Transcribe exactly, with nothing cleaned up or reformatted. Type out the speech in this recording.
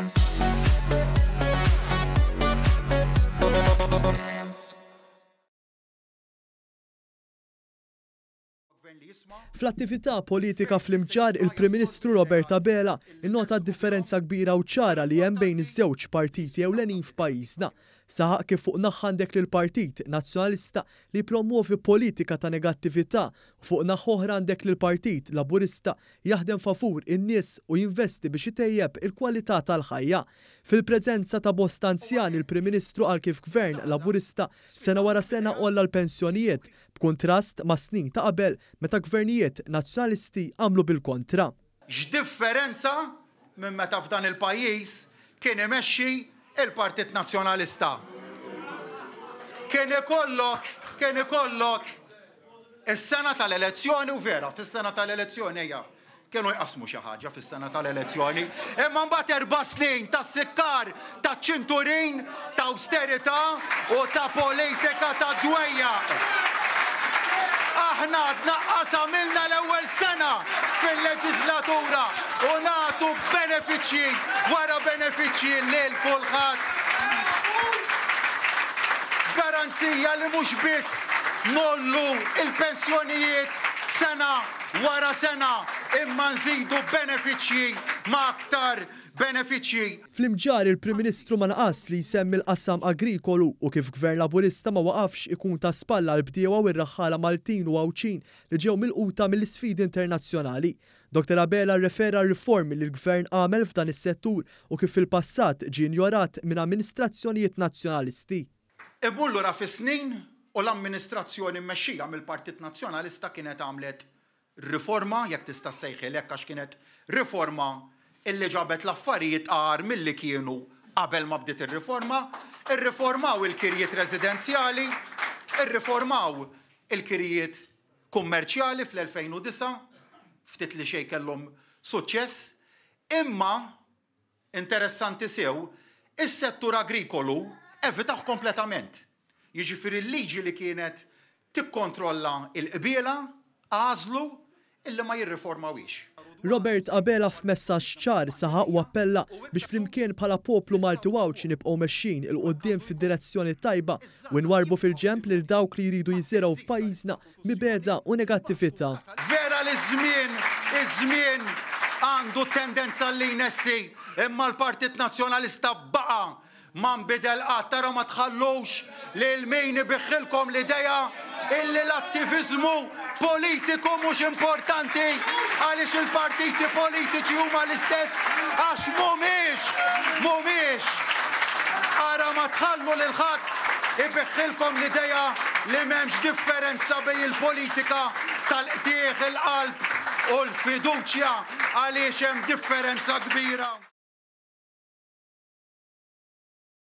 Dance. Dance. Fl-attività politika fl-Imġarr, il-Prim Ministru Robert Abela innota d-differenza kbira u ċara li hemm bejn iż-żewġ partiti ewlenin f'pajjiżna. Saħaq kif fuq naħa għandek lill-Partit Nazzjonalista li jippromwovi politika ta' negattività u fuq naħa oħra għandek lill-Partit Laburista jaħdem favur in-nies u jinvesti biex itejjeb il-kwalità tal-ħajja. Fil-preżenza ta' bosta anzjani, il-Prim Ministru qal kif Gvern Laburista sena wara sena għolla l-pensjonijiet, b'kuntrast ma' snin ta' qabel meta gvernijiet Nazzjonalisti għamlu bil-kontra. X'differenza minn meta f'dan il-pajjiż kien imexxi il-Partit Nazzjonalista. Kien ikollok, kien ikollok is-sena tal-elezzjoni u vera, fis-sena tal-elezzjoni ejja, kienu jqassmu xi ħaġa fis-sena tal-elezzjoni, imma mbagħad erba' snin ta' sikkar, ta' ċinturin, ta' awsterità u ta' politika ta' dwejjaq. Aħna tnaqqas għamilna l-ewwel sena fil-leġislatura u nagħtu benefiċċji wara benefiċċji lil kulħadd. Garanzija li mhux biss ngħollu l-pensjonijiet sena wara sena imma nżidu benefiċċji ma' aktar benefiċċji. Fl-Imġarr il-Prim Ministru ma naqas li jsemmi l-qasam agrikolu u kif Gvern Laburista ma waqafx ikun ta' spalla għall-bdiewa u r-raħħala Maltin u Għawdxin li ġew milquta mill-isfidi internazzjonali. Dottor Abela rrefera għar-riformi li l-Gvern għamel f'dan is-settur u kif fil-passat ġie injorat minn amministrazzjonijiet Nazzjonalisti. Immur lura fis-snin u l-amministrazzjoni mmexxija mill-Partit Nazzjonalista kienet għamlet riforma, jekk tista' ssejħilha hekk għax kienet riforma illi ġabet l-affarijiet agħar milli kienu qabel ma bdiet ir-riforma, irriformaw il-kirjiet residenzjali, irriformaw il-kirjiet kummerċjali fl-elfejn u disgħa, ftit li xejn kellhom suċċess, imma interessanti sew, is-settur agrikolu evitah kompletament. Jiġifieri l-liġi li kienet tikkontrolla l-qbiela għażlu illi ma jirriformawhiex. Robert Abela f'messaġġ ċar saħaq u appella biex flimkien bħala poplu Malti u Għawdxi nibqgħu mexjin 'il quddiem fid-direzzjoni tajba u nwarrbu fil-ġenb lil dawk li jridu jiżirgħu f'pajjiżna mibegħda u negattività. Vera li ż-żmien, iż-żmien għandu tendenza li jnessi, imma l-Partit Nazzjonalista baqa' ma nbidel qatt. Tara ma tħallux lil min ibiħħilkom l-idea illi l-attiviżmu politiku mhux importanti għaliex il-partiti politiċi huma l-istess, għax mhumiex, mhumiex. Ara ma tħallu lil ħadd ibiħħilkom l-idea li m'hemmx differenza bejn il-politika tal-qtieħ il-qalb u l-fiduċja, għaliex hemm differenza kbira.